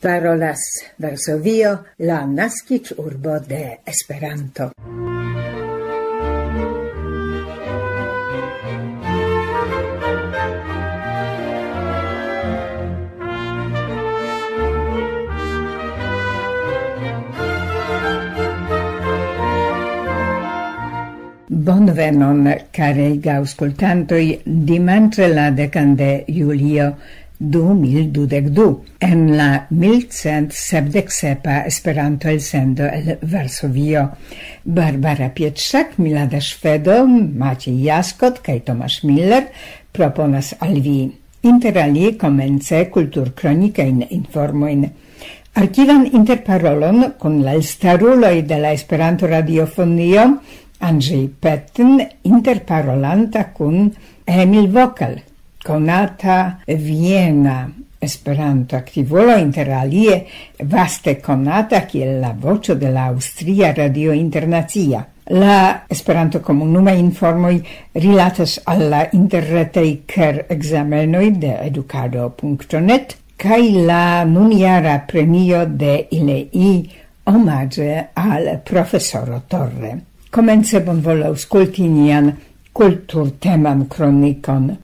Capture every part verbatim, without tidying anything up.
Parolas Varsovio, la naskiĝurbo de Esperanto. Bonvenon, karega aŭskultantoj, dimanĉe la dekan de julio du mil dudek du, en la mil cent sepdek sepa Esperanto-elsendo el Varsovio. Barbara Pietrzak, Milada Szwedo, Maciej Jaskot kaj Tomasz Miller proponas al vi, inter alie, komence kulturkronikajn informojn. Arkivan interparolon kun la elstaruloj de la Esperanto-radiofonio, Andrzej Petten, interparolanta kun Emil Vokel, konata viena Esperanto-aktivulo, inter alie vaste konata kiel la voĉo de la Aŭstria Radio Internacia. La Esperanto-komunumaj informoj rilatas al la interretaj ker-ekzamenoj de edukado.net kaj la nunjara premio de ILEI omaĝe al profesoro Torre. Komence bonvolu aŭskulti nian kulturteman kronikon.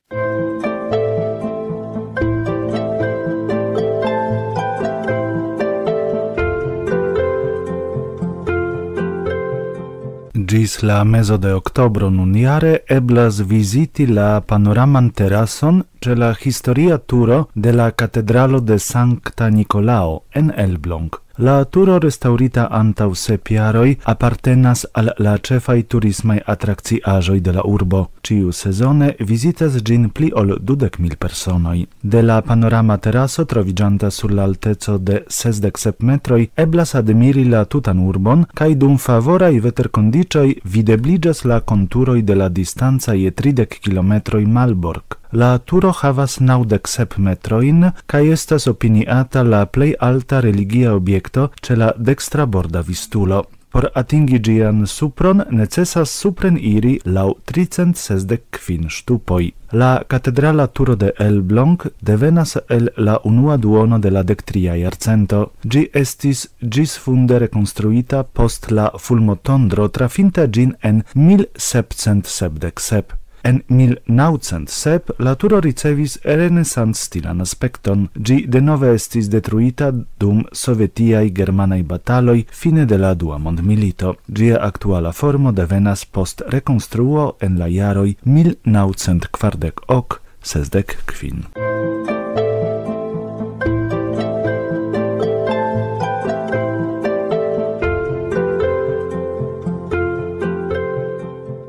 Ĝis la mezo de oktobro nunjare eblas viziti la panoraman terason ĉe la historia turo de la katedralo de Sankta Nikolao en Elbląg. La turo, restaŭrita antaŭ sep jaroj, apartenas al la ĉefaj turismaj atrakciaĵoj de la urbo. Ĉiu sezone vizitas ĝin pli ol dudek mil personoj. De la panorama teraso, troviĝanta sur la alteco de sesdek sep metroj, eblas admiri la tutan urbon, kaj dum favoraj veterkondiĉoj videbliĝas la konturoj de la distanca je tridek kilometroj Malbork. La turo havas naŭdek sep metrojn kaj estas opiniata la plej alta religia objekto ĉe la dekstra borda vistulo. Por atingi ĝian supron necesas supren iri laŭ tricent sesdek kvin ŝtupoj. La katedrala turo de Elbląg devenas el la unua duono de la dektria jarcento. Ĝi estis ĝisfunde rekonstruita post la fulmotondro, trafinta ĝin en mil sepcent sepdek sep. En mil naŭcent sep la turo ricevis renesans-stilan aspekton. Ĝi denove estis detruita dum sovetiaj-germanaj bataloj fine de la Dua Mondmilito. Ĝia aktuala formo devenas post rekonstruo en la jaroj mil naŭcent kvardek ok sesdek kvin.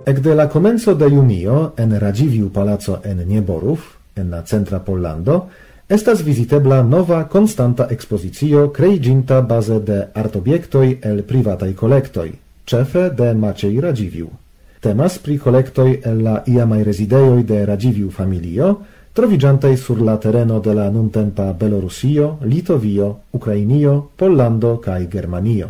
Ekde la komenco de junio en Radziwiłł Palaco en Nieborów, en la centra Pollando, estas vizitebla nova konstanta ekspozicio kreiĝinta baze de artobjektoj el privataj kolektoj, ĉefe de Maciej Radziwiłł. Temas pri kolektoj el la iamaj rezidejoj de Radziwiłł familio, troviĝantaj sur la tereno de la nuntempa Belorusio, Litovio, Ukrainio, Pollando kaj Germanio.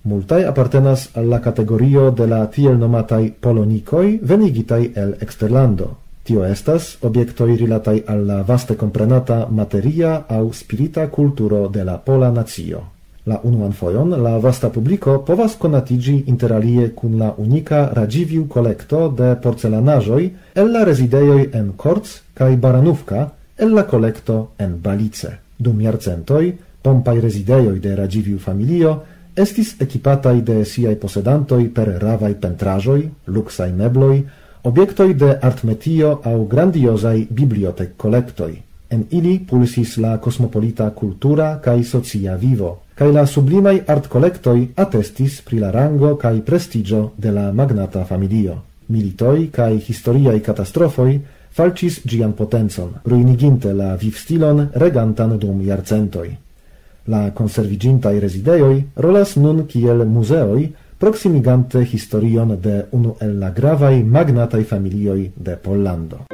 Multaj apartenas al la kategorio de la tiel nomataj polonikoj venigitaj el eksterlando. Tio estas objektoj rilataj al la vaste komprenata materia aŭ spirita kulturo de la pola nacio. La unuan fojon la vasta publiko povas konatiĝi inter alie kun la unika Radziwiłł kolekto de porcelanaĵoj el la rezidejoj en Korc kaj Baranówka, el la kolekto en Balice. Dum jarcentoj, pompaj rezidejoj de Radziwiłł familio estis ekipataj de siaj posedantoj per ravaj pentraĵoj, luksaj mebloj, objektoj de artmetio aŭ grandiozaj bibliotek-kolektoj. En ili pulsis la kosmopolita kultura kaj socia vivo, kaj la sublimaj artkolektoj atestis pri la rango kaj prestiĝo de la magnata familio. Militoj kaj historiaj katastrofoj falĉis ĝian potencon, ruiniginte la vivstilon regantan dum jarcentoj. La konserviĝintaj rezidejoj rolas nun kiel muzeoj, proksimigante historion de unu el la gravaj magnataj familioj de Pollando.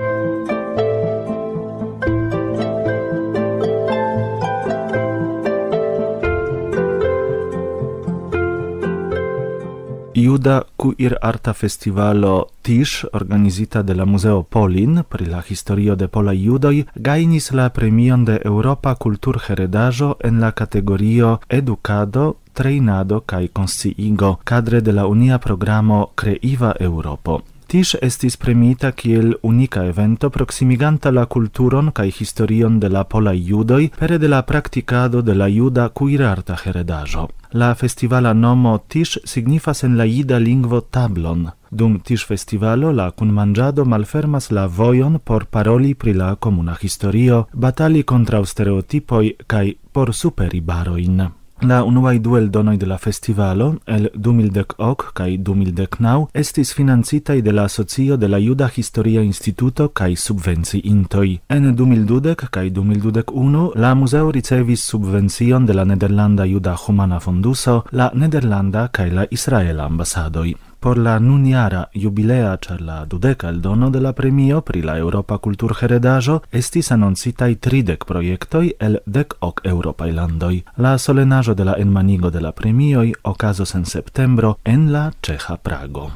Juda kuir-arta festivalo Tisch, organizita de la Muzeo Polin pri la historio de polaj judoj, gajnis la premion de Eŭropa kulturheredaĵo en la kategorio Edukado, trejnado kaj konsciigo, kadre de la unia programo Kreiva Eŭropo. Tisch estis premiita kiel unika evento, proksimiganta la kulturon kaj historion de la polaj judoj pere de la praktikado de la juda kuirarta heredaĵo. La festivala nomo Tisch signifas en la jida lingvo tablon. Dum Tisch-festivalo la kunmanĝado malfermas la vojon por paroli pri la komuna historio, batali kontraŭ stereotipoj kaj por superi barojn. La unuaj du eldonoj de la festivalo, el du mil dek ok kaj du mil dek naŭ, estis financitaj de la Asocio de la Juda Historia Instituto kaj subvenciintoj. En du mil dudek kaj du mil dudek unu la muzeo ricevis subvencion de la Nederlanda Juda Humana Fonduso, la Nederlanda kaj la Israela ambasadoj. Por la nunjara jubilea, ĉar la dudeka eldono de la premio pri la Eŭropa kulturheredaĵo, estis anoncitaj tridek projektoj el dek ok eŭropaj landoj. La solenaĵo de la enmanigo de la premioj okazos en septembro en la ĉeĥa Prago.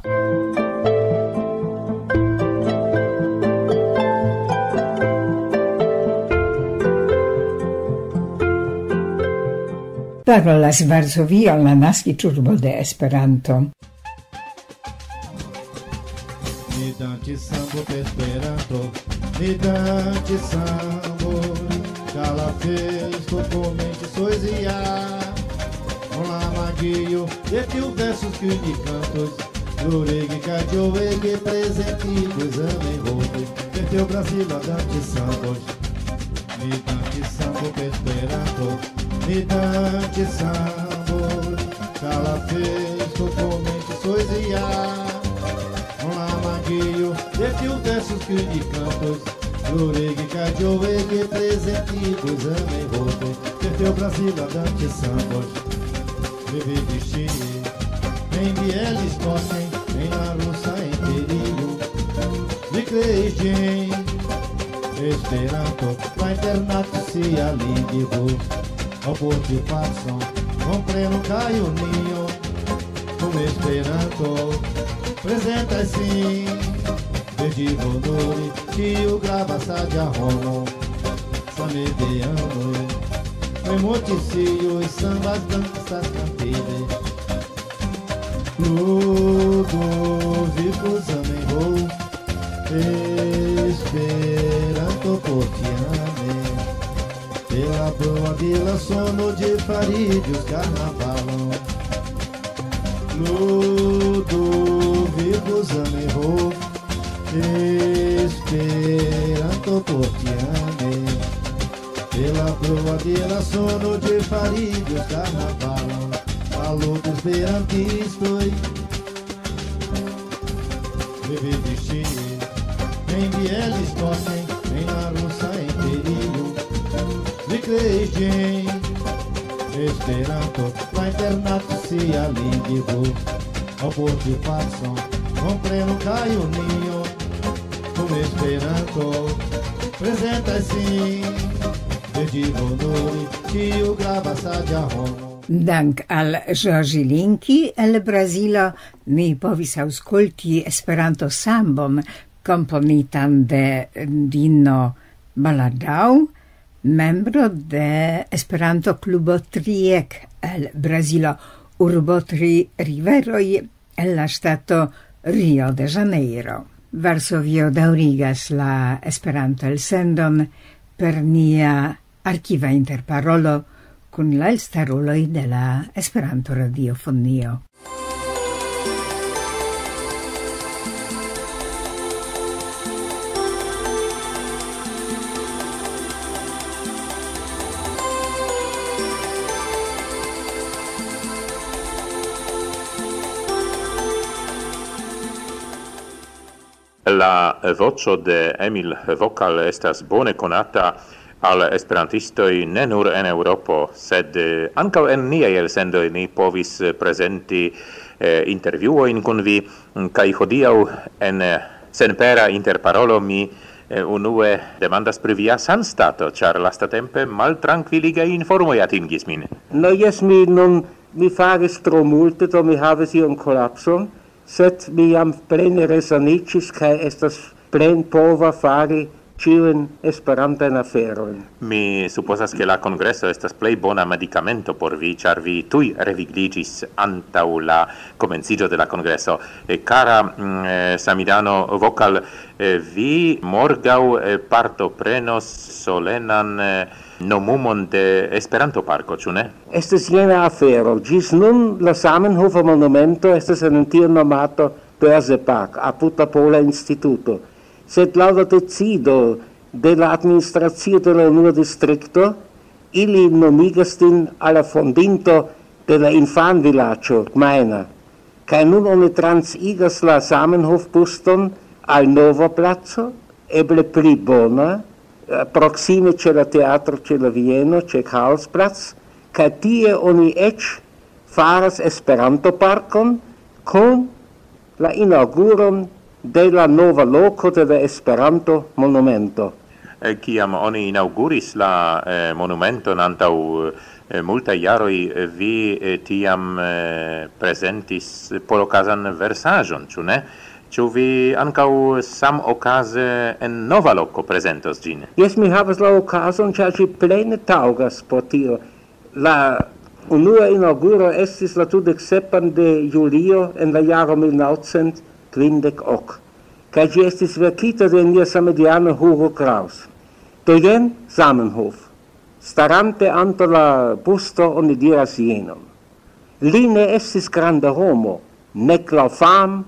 Parolas Varsovio, la naskiĝurbo de Esperanto. Ni danci sambo per Esperanto, ni danci sambo, kala festo komenci soizia. Con la magio de tiu versos que ni cantos, lurigi kajo ege prezenti kuzame hote, per teu Brasil la danci sambos. Ni danci sambo per Esperanto, ni danci sambo, kala festo komenci soizia. Con la magio de tiu versos que ni cantos, lurigi kajo ege prezenti kuzame hote, per teu Brasil la danci sambos. Vivi destini, en Bielis Kosten, en la rusa imperio. Vi kreis ĝin, Esperanto, la internacia lingvo. Oporti pacon, kompreno kaj unio. Kun Esperanto, prezentaj sin. Verdi honori, kiu gravas saĝa homo. Same de amor, emocio, sambas, danças, cantile. Ludo, vivo, zamenhof, Esperanto, potiame. Pela boa de la sono de Farídios carnavalão. Ludo, vivo, zamenhof, Esperanto, potiame. Pela boa de la sono de Farídios carnavalão. Saludos esperantistoj. Vivi destini, en Bielis Kosten, en la rusa imperio. Vi kreis ĝin, Esperanto, la internacia lingvo. Oporti pacon, kompreno kaj unio. Kun Esperanto, prezentaj sin. Verdi honori, kiu gravas saĝa homo. Dank al Ĵorĝi Linki el Brazilo, ni povis aŭskulti Esperanto-sambon komponitan de Dino Baladau, membro de Esperanto-klubo Triek el Brazilo, urbo Tri Riveroj, el la ŝtato Rio de Janeiro. Varsovio daŭrigas la Esperanto-elsendon per nia arkiva interparolo kun la elstaruloj de la Esperanto-radiofonio. La voĉo de Emil Vokal estas bone konata al esperantistoj ne nur en Eŭropo, sed, eh, ankaŭ en niaj elsendoj ni povis, eh, prezenti, eh, intervjuojn kun vi, mm, kaj hodiaŭ en, eh, senpera interparolo mi, eh, unue demandas pri via sanstato, ĉar lastatempe maltrankviligaj informoj atingis min. No jes, mi nun Mi faris tro multe, do mi havis iun kolapson, sed mi jam plene resaniĝis kaj estas plenpova fari ĉiujn Esperantajn aferojn. Mi supozas, ke la kongreso estas plej bona medikamento por vi, ĉar vi tuj revigliĝis antaŭ la komenciĝo de la kongreso. E, kara mm, eh, Samidano Vokal, eh, vi morgaŭ eh, partoprenos solenan eh, nomumon de Esperanto-parko, ĉu ne? Estas jena afero. Ĝis nun la Zamenhofa monumento estas en tiu nomata Börse Park, apud la Pola Instituto. Sed laŭ la decido de la administracio de la unua distrikto, ili nomigas ĝin al la fondinto de la infanvilaĝo Gmeina. Kaj nun oni transigas la Zamenhof-buston al nova placo, eble pli bona, eh, proksime ĉe la teatro, ĉe la Vieno, ĉe Karlsplatz, kaj tie oni eĉ faras Esperanto-parkon kun la inaŭguron de la nova loko de la Esperanto-monumento. Eh, kiam oni inaŭguris la eh, monumenton antaŭ eh, multaj jaroj, eh, vi eh, tiam eh, prezentis polokazan versaĵon, ĉu ne? Ĉu vi ankaŭ samokaze en nova loko prezentos ĝin? Jes, mi havas la okazon, ĉar ĝi plene taŭgas por tio. La unua inaŭguro estis la dudek sepan de julio en la jaro mil naŭcent kvindek ok, kaj ĝi estis verkita de nia samediano Hugo Kraus. Do jen Zamenhof. Starante antaŭ la busto oni diras jenon. Li ne estis granda homo, nek laŭ fam,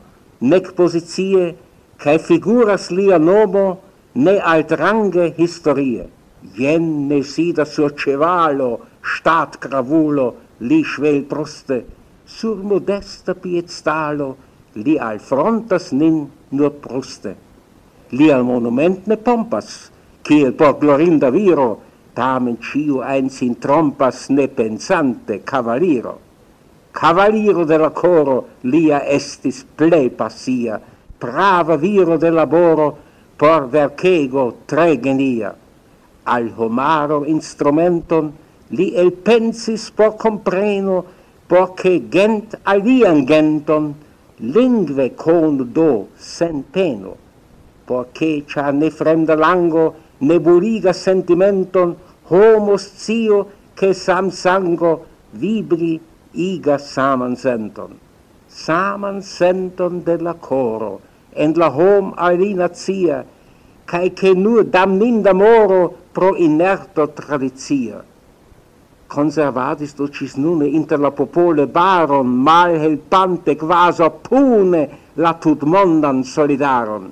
nek pozicie, kaj figuras lia nomo ne altrange historie. Jen ne sidas sur ĉevalo, ŝtatgravulo, li ŝvelbruste, sur modesta piedstalo li alfrontas nin nur bruste. Lia monument ne pompas, kiel por glorinda viro, tamen ĉiu ajn sin trompas ne pensante kavaliro. Kavaliro de la koro lia estis plej pasia, prava viro de laboro por verkego tre genia. Al homaro instrumenton li elpensis por kompreno, por ke gent alian genton lingve konu do sen peno. Por ke, ĉar ne fremda lango ne burigas sentimenton, homo sciu, ke samsango vibri igas saman senton. Saman senton de la koro, en la hom al li nacia, kaj ke nur damninda moro pro inerto tradicia. Konservadis do ĝis nune inter la popole baron, malhelpante kvazaŭ pune la tutmondan solidaron.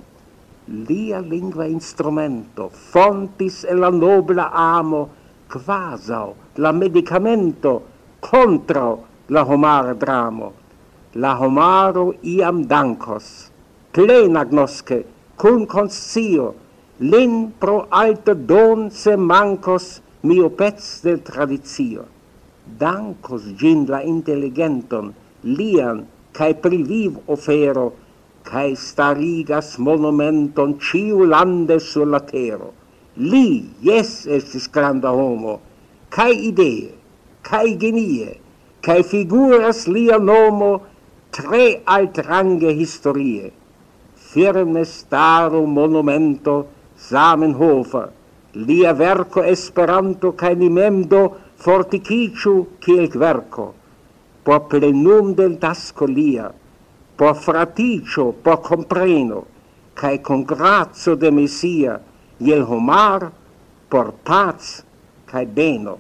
Lia lingva instrumento fontis en la nobla amo kvazaŭ la medikamento kontraŭ la homara dramo. La homaro iam dankos, plenagnoske, kun konscio, lin pro alta don se mankos miopec de tradicio. Dankos ĝin la inteligenton, lian kaj pri viv ofero, kaj starigas monumenton ĉiulande sur la tero. Li, jes, estis granda homo, kaj idee, kaj genie, kaj figuras lia nomo tre altrange historie. Firme staru monumento Zamenhofa, lia verko Esperanto kaj ni mem do fortikiĝu kiel kverko. Por plenum de tasko lia, por fratiĝo, por kompreno, kaj kun graco de Mesia, je l' homar, por pac kaj beno.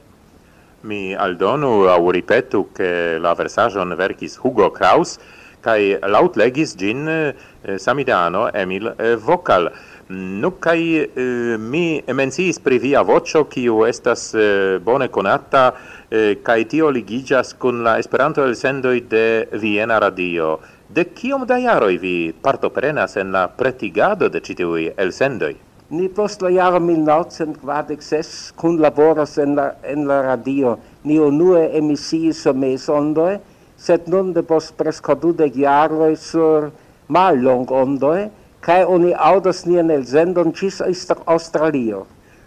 Mi aldonu aŭ ripetu, ke la versaĵon verkis Hugo Kraus, kaj laŭtlegis ĝin eh, Samidano Emil eh, Vokal. Nu, kaj eh, mi menciis pri via voĉo, kiu estas eh, bone konata, eh, kaj tio ligiĝas kun la Esperanto-elsendoj de Viena Radio. De kiom da jaroj vi partoprenas en la pretigado de ĉi tiuj elsendoj? Ni post la jaro mil naŭcent kvardek ses kunlaboras en la, en la radio. Ni unue emisiis sur mezondoj, sed nun depost preskaŭ dudek jaroj sur mallongondoj, kaj oni aŭdas nian elsendon ĝis Aŭstra-, Aŭstralio.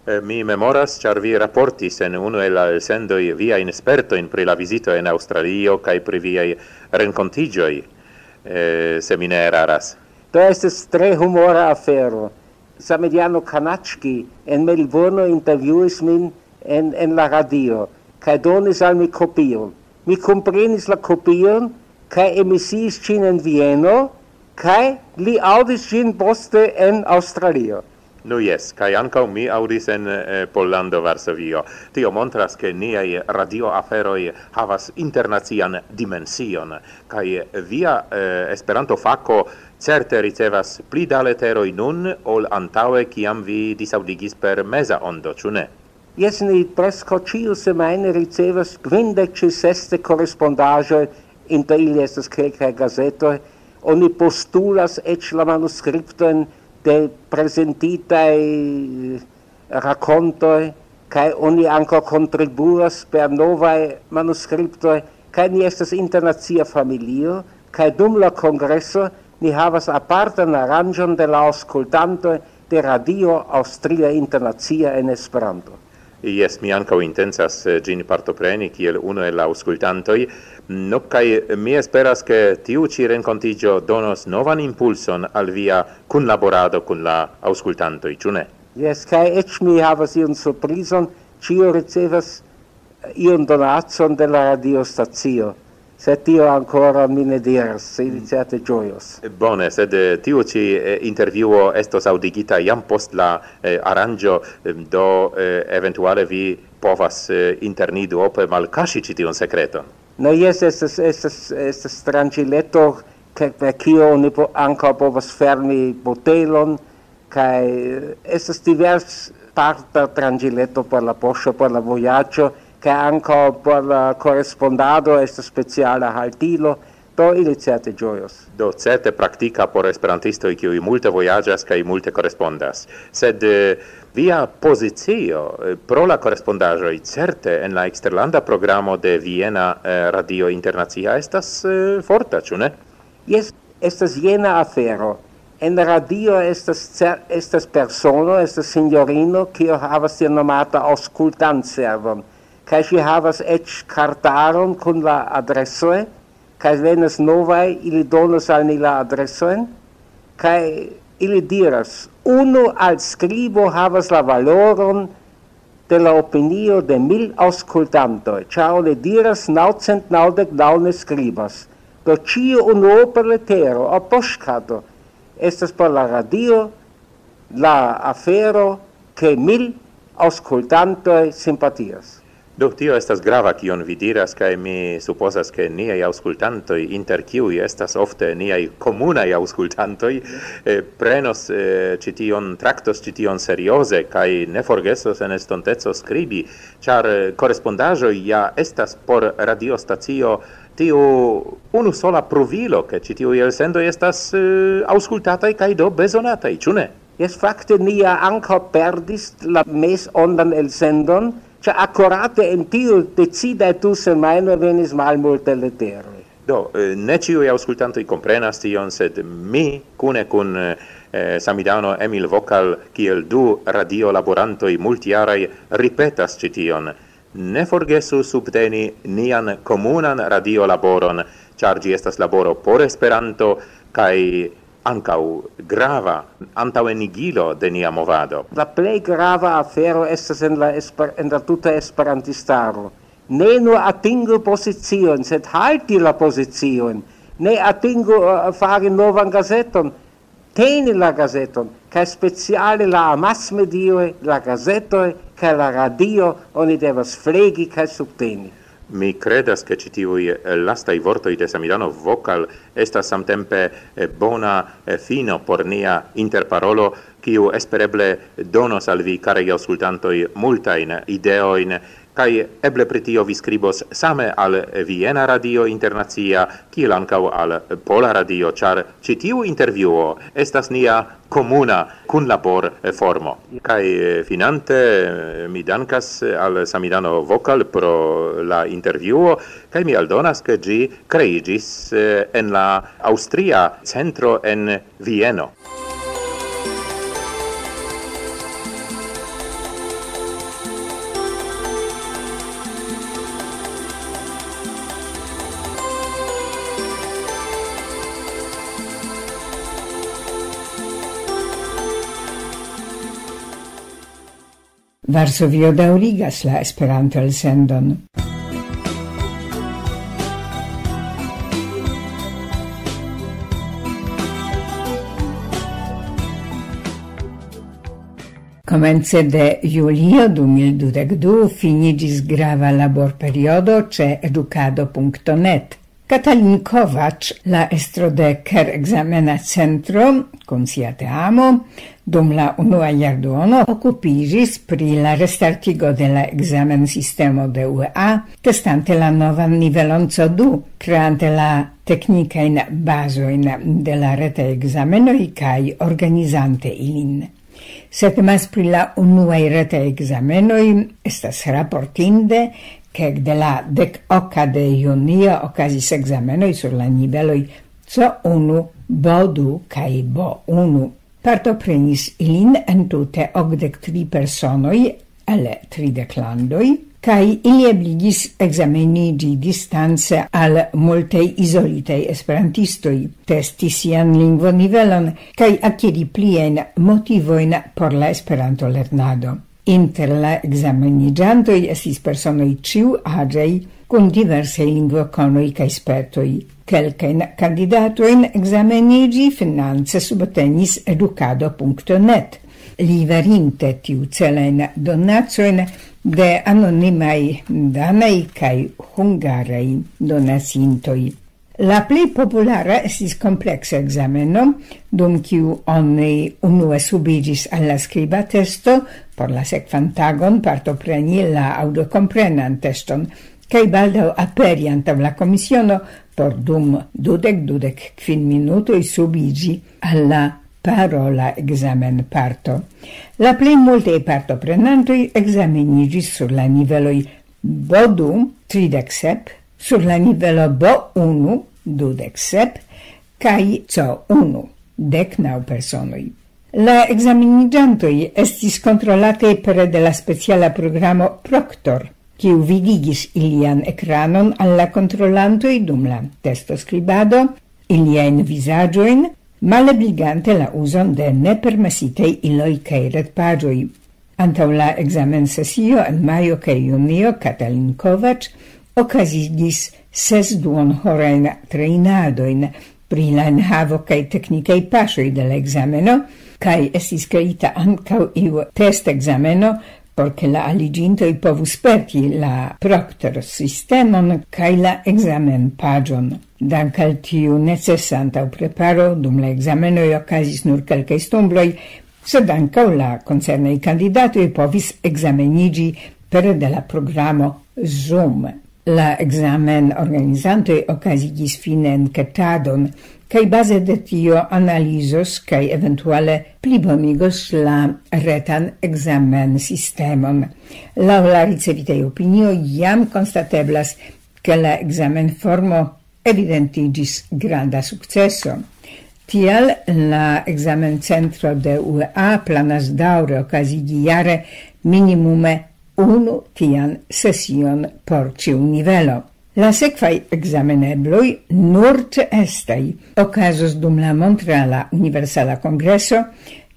Eh, Mi memoras, ĉar vi raportis en unu el la elsendoj viajn spertojn pri la vizito en Aŭstralio kaj pri viaj renkontiĝoj, eh, se mi ne eraras. Do estas tre humora afero. Samediano Kanaczki en Melbourne intervjuis min en, en la radio, kaj donis al mi kopion. Mi komprenis la kopion, kaj emisiis ĝin en Vieno, kaj li aŭdis ĝin poste en Aŭstralio. Nu jes, kaj ankaŭ mi aŭdis en eh, Pollando, Varsovio. Tio montras, ke niaj radioaferoj havas internacian dimension, kaj via eh, Esperanto-fako certe ricevas pli da leteroj nun ol antaŭe, kiam vi disaŭdigis per meza ondo, ĉu ne? Jes, ni preskaŭ ĉiu semajne ricevas kvindek ĝis sesdek korespondaĵoj, inter ili estas kelkaj gazetoj. Oni postulas eĉ la manuskriptojn de prezentitaj rakontoj, kaj oni ankaŭ kontribuas per novaj manuskriptoj, kaj ni estas internacia familio, kaj dum la kongreso ni havas apartan aranĝon de la aŭskultantoj de Radio Aŭstria Internacia en Esperanto. Jes, mi ankaŭ intencas eh, ĝin partopreni kiel unu el la aŭskultantoj. Nu, kaj mi esperas, ke tiu ĉi renkontiĝo donos novan impulson al via kunlaborado kun la aŭskultantoj, ĉu ne? Jes, kaj eĉ mi havas iun surprizon, ĉiu ricevas iun donacon de la radiostacio. Se tio ankoraŭ mi ne diras, se ili certe ĝojos. Bone, sed eh, tiu ĉi eh, intervjuo estos aŭdigita jam post la eh, aranĝo, eh, do eh, eventuale vi povas eh, inter ni duope malkaŝi ĉi tiun sekreton. No, jes, estas, estas, estas tranĉileto, ke per kio oni po, ankaŭ povas fermi botelon, kaj eh, estas divers parta tranĉileto por la poŝo, por la vojaĝo, kaj ankaŭ por la korespondado estas speciala haltilo, do ili certe ĝojos. Do certe praktika por esperantistoj, kiuj multe vojaĝas kaj multe korespondas. Sed eh, via pozicio eh, pro la korespondaĵoj certe en la eksterlanda programo de Viena eh, Radio Internacia estas eh, forta, ĉu ne? Jes, estas jena afero. En radio estas, cer- estas persono, estas sinjorino, kiu havas tiel nomata aŭskultantservon. Kaj ŝi havas eĉ kartaron kun la adresoj, kaj venas novaj, ili donas al ni la adresojn, kaj ili diras, unu alskribo havas la valoron de la opinio de mil aŭskultantoj, ĉar oni diras naŭcent naŭdek naŭ ne skribas. Do ĉiu unuopa letero aŭ poŝkato estas por la radio la afero, ke mil aŭskultantoj simpatias. Do, tio estas grava, kion vi diras, kaj mi supozas, ke niaj aŭskultantoj, inter kiuj estas ofte niaj komunaj aŭskultantoj, eh, prenos eh, ĉi tion, traktos ĉi tion serioze, kaj ne forgesos en estonteco skribi, ĉar eh, korespondaĵoj ja estas por radiostacio tiu unu sola pruvilo, ke ĉi tiuj elsendoj estas eh, aŭskultataj kaj do bezonataj, ĉu ne? Jes, fakte ni ja ankaŭ perdis la mezondan elsendon, ĉar akurate en tiu decidaj du semajnoj venis malmulte leteroj. Do, eh, ne ĉiuj aŭskultantoj komprenas tion, sed mi kune kun eh, Samidano Emil Vokal kiel du radiolaborantoj multjaraj ripetas ĉi tion. Ne forgesu subteni nian komunan radiolaboron, ĉar ĝi estas laboro por Esperanto kaj ankaŭ grava antaŭenigilo de nia movado. La plej grava afero estas en la, esper, en la tuta esperantistaro. Ne nur atingu pozicion, sed halti la pozicion. Ne atingu uh, fari novan gazeton, teni la gazeton, kaj speciale la amasmedioj, la gazetoj, kaj la radio oni devas flegi kaj subteni. Mi kredas, ke ĉi tiuj eh, lastaj vortoj de Samidano Vokal estas samtempe eh, bona eh, fino por nia interparolo, kiu espereble donos al vi, karaj aŭskultantoj, multajn ideojn, kaj eble pri tio vi skribos same al Viena Radio Internacia, kiel ankaŭ al Pola Radio, ĉar ĉi tiu intervjuo estas nia komuna kunlaborformo. Kaj eh, finante, eh, mi dankas al Samidano Vokal pro la intervjuo, kaj mi aldonas, ke ĝi kreiĝis eh, en la Aŭstria Centro en Vieno. Varsovio daŭrigas la Esperanto-elsendon. Komence de julio du mil dudek du finiĝis grava laborperiodo ĉe edukado punkto net. Katalin Kovac, la estro de Ker-ekzamena centro, kun sia teamo, dum la unua jarduono okupiĝis pri la restartigo de la ekzamensistemo de U E A, testante la novan nivelon C du, kreante la teknikajn bazojn de la retaj ekzamenoj kaj organizante ilin. Se temas pri la unuaj retaj ekzamenoj, estas raportinde, ke ekde la dek oka de junio okazis ekzamenoj sur la niveloj C unu, B du kaj B unu. Partoprenis ilin entute okdek tri personoj el tridek landoj, kaj ili ebligis ekzameniĝi distance al multaj izolitaj esperantistoj, testi sian lingvonivelon kaj akiri pliajn motivojn por la Esperanto-lernado. Inter la ekzameniĝantoj estis personoj ĉiuaĝaj, kun diversaj lingvokonoj kaj spertoj. Kelkajn kandidatojn ekzameniĝi finance subtenis edukado punkto net, liverinte tiucelajn donacojn de anonimaj danaj kaj hungaraj donacintoj. La plej populara estis kompleksa ekzameno, dum kiu oni unue subiĝis al la skriba testo, por la sekvan tagon partopreni la aŭdokomprenan teston, kaj baldaŭ aperi antaŭ la komisiono por dum dudek, dudek kvin minutoj subiĝi al la parola ekzamenparto. La plej multaj partoprenantoj ekzameniĝis sur la niveloj B du, tridek sep, sur la nivelo B unu, dudek sep, kaj C unu, dek naŭ personoj. La ekzameniĝantoj estis kontrolataj pere de la speciala programo Proctor, kiu vidigis ilian ekranon al la kontrolantoj dum la testoskribado, iliajn vizaĝojn, malebligante la uzon de nepermesitaj iloj kaj retpaĝoj. Antaŭ la ekzamensesio en majo kaj junio Katalin Kovac okazigis ses duonhorajn trejnadojn pri la enhavo kaj teknikaj paŝoj de la ekzameno, kaj estis kreita ankaŭ iu testekzameno, por ke la aliĝintoj povus sperti la Proctor-sistemon kaj la ekzamenpaĝon. Dank al tiu necesa antaŭpreparo, dum la ekzamenoj okazis nur kelkaj stumbloj, sed ankaŭ la koncernaj kandidatoj povis ekzameniĝi pere de la programo Zoom. La ekzamenorganizantoj okazigis fine enketadon, kaj baze de tio analizos kaj eventuale plibonigos la retan ekzamensistemon. Laŭ la ricevitaj opinioj jam konstateblas, ke la ekzamenformo evidentiĝis granda sukceso. Tial la ekzamencentro de U E A planas daŭre okazigi jare minimume unu tian sesion por ĉiu nivelo. La sekvaj ekzamenebloj, nur ĉeestaj, okazos dum la Montreala Universala Kongreso,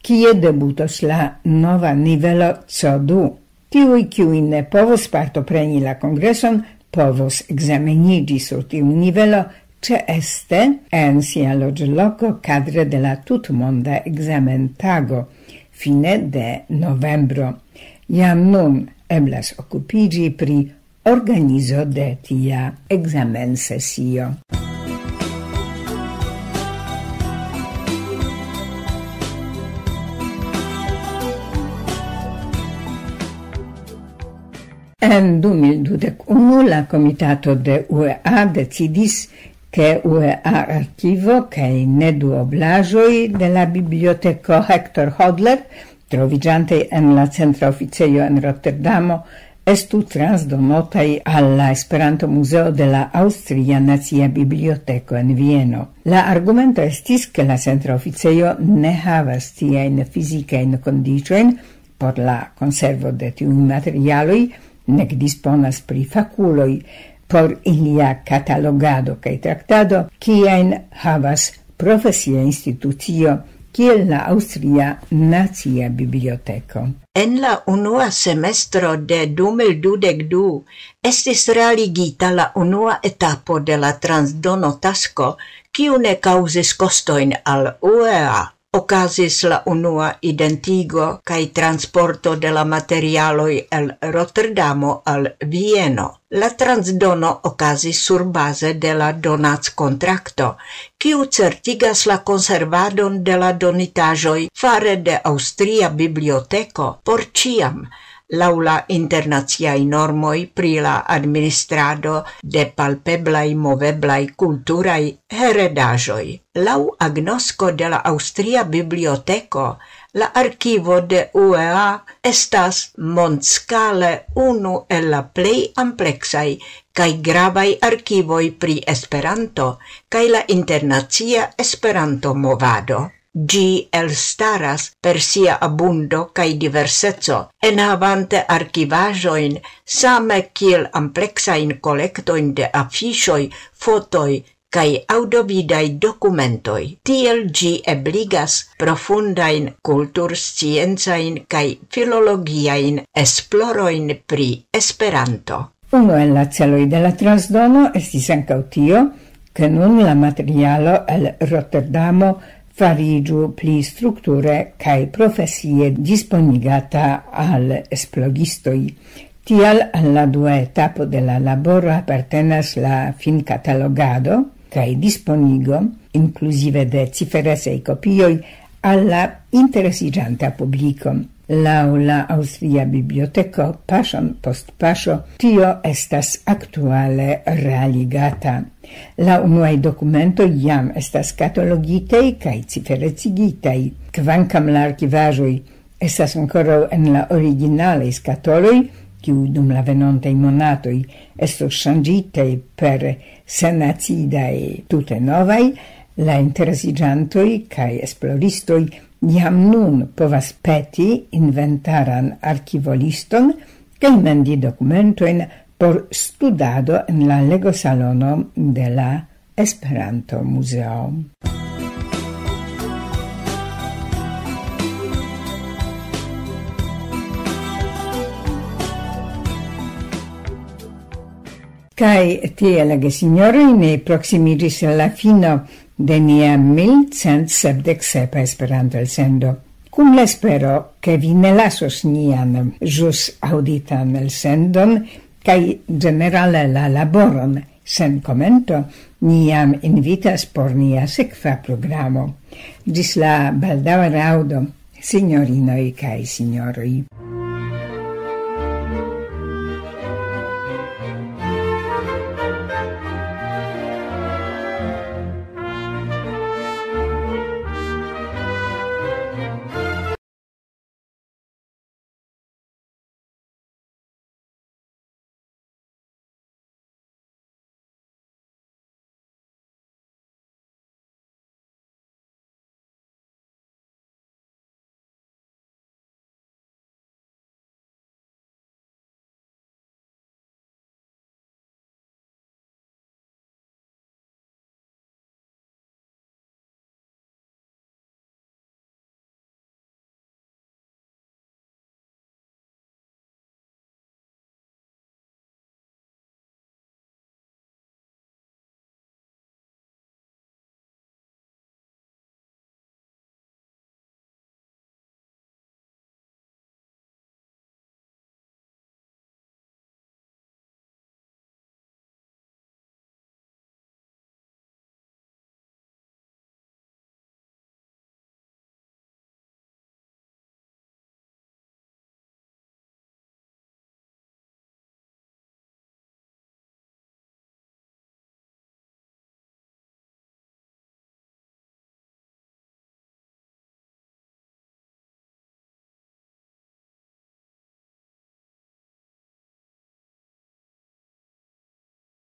kie debutos la nova nivelo C du. Tiuj, kiuj ne povos partopreni la kongreson, povos ekzameniĝi sur tiu nivelo ĉeeste en sia loĝloko kadre de la tutmonda ekzamentago fine de novembro. Jam nun eblas okupiĝi pri organizo de tia ekzamensesio. En du mil dudek unu la komitato de U E A decidis, ke U E A arkivo kaj neduoblaĵoj de la biblioteko Hector Hodler, troviĝantaj en la centra oficejo en Rotterdamo, estu transdonotaj al la Esperanto-Muzeo de la Aŭstria Nacia Biblioteko en Vieno. La argumento estis, ke la centra oficejo ne havas tiajn fizikajn kondiĉojn por la konservo de tiuj materialoj, nek disponas pri fakuloj por ilia katalogado kaj traktado, kiajn havas profesia institucio kiel la Aŭstria Nacia Biblioteko. En la unua semestro de du mil dudek du estis realigita la unua etapo de la transdono tasko, kiu ne kaŭzis kostojn al U E A. Okazis la unua identigo kaj transporto de la materialoj el Rotterdamo al Vieno. La transdono okazis surbaze de la donackontrakto, kiu certigas la konservadon de la donitaĵoj fare de Aŭstria Biblioteko por ĉiam, laŭ la internaciaj normoj pri la administrado de palpeblaj moveblaj kulturaj heredaĵoj. Laŭ agnosko de la Aŭstria Biblioteko, la arkivo de U E A estas mondskale unu el la plej ampleksaj kaj gravaj arkivoj pri Esperanto kaj la internacia Esperanto-movado. Ĝi elstaras per sia abundo kaj diverseco, enhavante arkivaĵojn same kiel ampleksajn kolektojn de afiŝoj, fotoj kaj aŭdovidaj dokumentoj. Tiel ĝi ebligas profundajn kultursciencajn kaj filologiajn esplorojn pri Esperanto. Unu el la celoj de la transdono estis ankaŭ tio, ke nun la materialo el Rotterdamo fariĝu pli strukture kaj profesie disponigata al esploristoj. Tial al la dua etapo de la laboro apartenas la finkatalogado kaj disponigo, inkluzive de ciferecaj kopioj, al la interesiĝanta publiko. Laŭ la Aŭstria Biblioteko, paŝon post paŝo, tio estas aktuale realigata. La unuaj dokumentoj jam estas katalogitaj kaj ciferecigitaj, kvankam la arkivaĵoj estas ankoraŭ en la originalaj skatoloj, kiuj dum la venontaj monatoj estos ŝanĝitaj per senacidaj tute novaj, la interesiĝantoj kaj esploristoj jam nun povas peti inventaran arkivoliston kaj mendi dokumentojn por studado en la legosalono de la Esperanto-Muzeo. Kaj tiel, gesinjoroj, ni proksimiĝis al la fino de nia mil cent sepdek sepa Esperanto-elsendo. Kun la espero, ke vi ne lasos nian ĵus aŭditan elsendon, kaj ĝenerale la laboron sen komento, ni jam invitas por nia sekva programo. Ĝis la baldaŭa raŭdo, sinjorinoj kaj sinjoroj.